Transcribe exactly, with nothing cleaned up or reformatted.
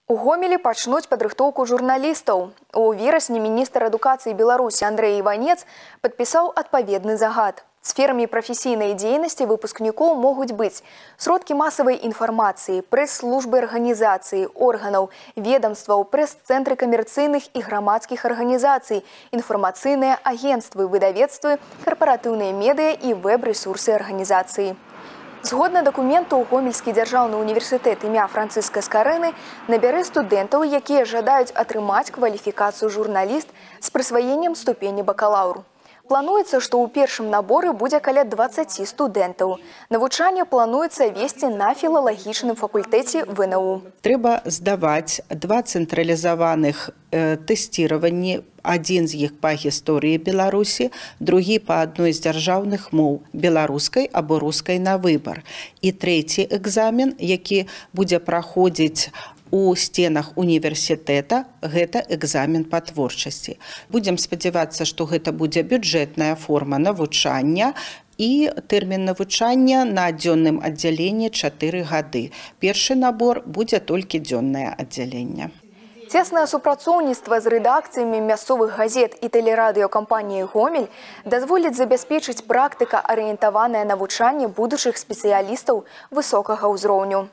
У Гомелі пачнуць падрыхтоўку журналістаў. У верасні міністр адукацыі Беларусі Андрэй Іванец падпісаў адпаведны загад. Сферамі прафесійнай дзейнасці выпускнікоў могуць быць сродкі масавай інфармацыі, прэс-службы арганізацыі, органаў, ведамстваў, прэс-цэнтры камерцыйных і грамадскіх арганізацый, інфармацыйныя агенцтвы, выдавецтвы, карпаратыўныя медыа і вэб-рэсурсы арганізацыі. Згодна дакументу, Гомельскі дзяржаўны універсітэт імя Францыска Скарэны набярэ студэнтаў, якія жадаюць атрымаць кваліфікацыю журналіст з прысваеннем ступені бакалаўру. Плануецца, што ў першым наборы будзе каля дваццаці студэнтаў. Навучанне плануецца весці на філалагічным факультэце вэ эн у. Трэба здаваць два цэнтралізаваных э, тэсціраванні. Адзін з іх па гісторыі Беларусі, другі па адной з дзяржаўных моў беларускай або рускай на выбар. І трэці экзамен, які будзе праходзіць у стенах універсітэта, гэта экзамен па творчасці. Будзем спадзявацца, што гэта будзе бюджэтная форма навучання і тэрмін навучання на дзённым аддзяленні чатыры гады. Першы набор будзе толькі дзённае аддзяленне. Цеснае супрацоўніцтва з рэдакцыямі мясцовых газет і тэлерадыёкампаніі «Гомель» дазволіць забяспечыць практыка-арыентаванае навучанне будучых спецыялістаў высокага ўзроўню.